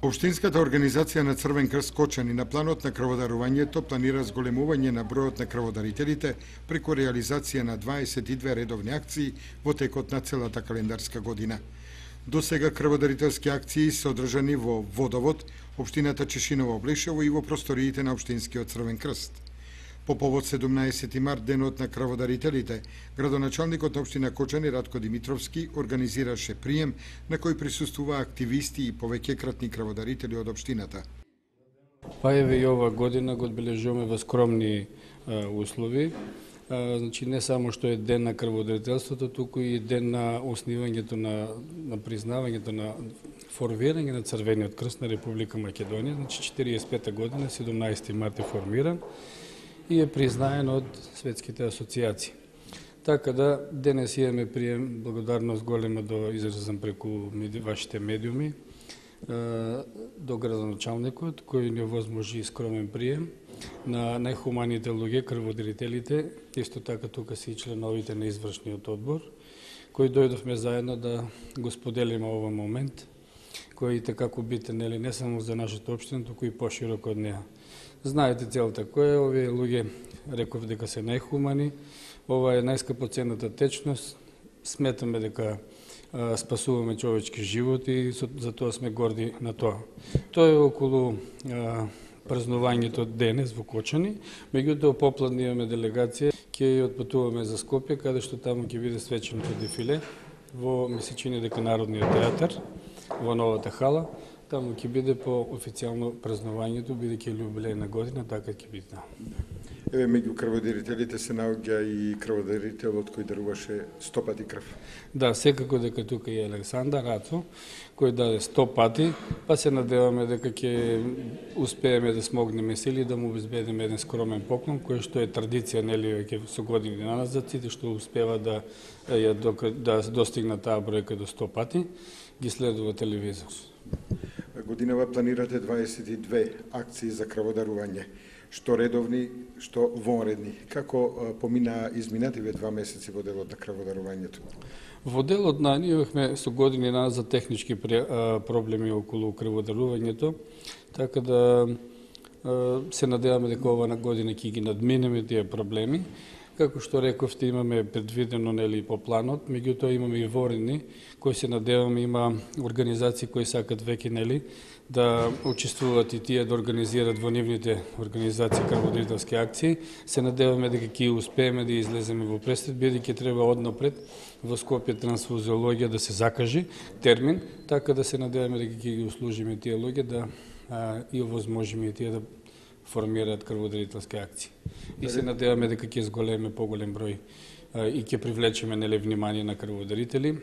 Општинската организација на Црвен крст Кочани на планот на крводарувањето планира зголемување на бројот на крводарителите преку реализација на 22 редовни акции во текот на целата календарска година. До сега крводарителски акции се одржани во Водовод, општината Чешиново Облешево и во просториите на општинскиот Црвен крст. По повод 17 март, денот на крводарителите, градоначалникот на општина Кочани Радко Димитровски организираше прием на кој присуствуваа активисти и повеќекратни крводарители од општината. Па еве и ова година го одбележуваме во скромни услови. Значи не само што е ден на крводарителството, туку и ден на основањето на признавањето на формирање на Црвениот крст на Република Македонија. Значи 45-та година, 17 март е формиран и е признаен од светските асоциации. Така да денес имаме прием, благодарност голема да изразам преку вашите медиуми, до градоначалникот кој ни овозможи скромен прием на најхуманите луѓе, крводарителите, исто така тука се и членовите на извршниот одбор, кои дојдовме заедно да го споделиме овој момент, кој е така битен не само за нашата општина, туку и пошироко од неа. Знаете целта кој е, овие луѓе реков дека се најхумани, ова е најскапоценната течност, сметаме дека спасуваме човечки живот и за тоа сме горди на тоа. Тоа е околу празнувањето денес во Кочани, меѓутоа попладне имаме делегација, ќе отпатуваме за Скопје, каде што таму ќе биде свеченото дефиле во месечини дека Народниот театар во новата хала. Таму ќе биде по официјално празнувањето, бидејќи јубилејна година, така ќе биде. Еве меѓу крводарителите се наоѓа и крводарителот кој даруваше 100 пати крв. Да, секако дека тука е Александар Рацо, кој даде 100 пати, па се надеваме дека ќе успееме да смогнеме сили да му обезбедиме еден скромен поклон, кој што е традиција веќе со години назад, сите што успева да достигнат таа бројка до 100 пати, ги следува телевизор. Годинава планирате 22 акции за крводарување, што редовни, што вонредни. Како помина изминативе 2 месеци во делот на крводарувањето? Во делот ние имавме со години назад технички проблеми околу крводарувањето, така да се надеваме дека ова година ќе ги надминеме тие проблеми. Како што рековте, имаме предвидено по планот, меѓутоа имаме и воредни, кои се надеваме, има организации кои сакат веќе да учествуваат и тие да организираат во нивните организации крводарителски акции. Се надеваме дека ќе успееме да излеземе во престрет, бидејќи треба однапред во Скопје трансфузиологија да се закажи термин, така да се надеваме дека ќе ги услужиме тие луѓе и овозможиме и тие да формираат крводарителски акции. И се надеваме дека ќе зголеме поголем број и ќе привлечеме внимание на крводарители.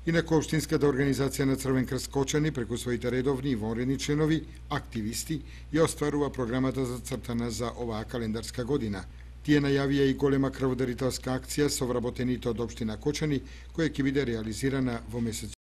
Инаку општинската организација на Црвен крст Кочани преку своите редовни и вонредни членови, активисти, ја остварува програмата зацртана за оваа календарска година. Тие најавија и голема крводарителска акција со вработените од општина Кочани, која ќе биде реализирана во месец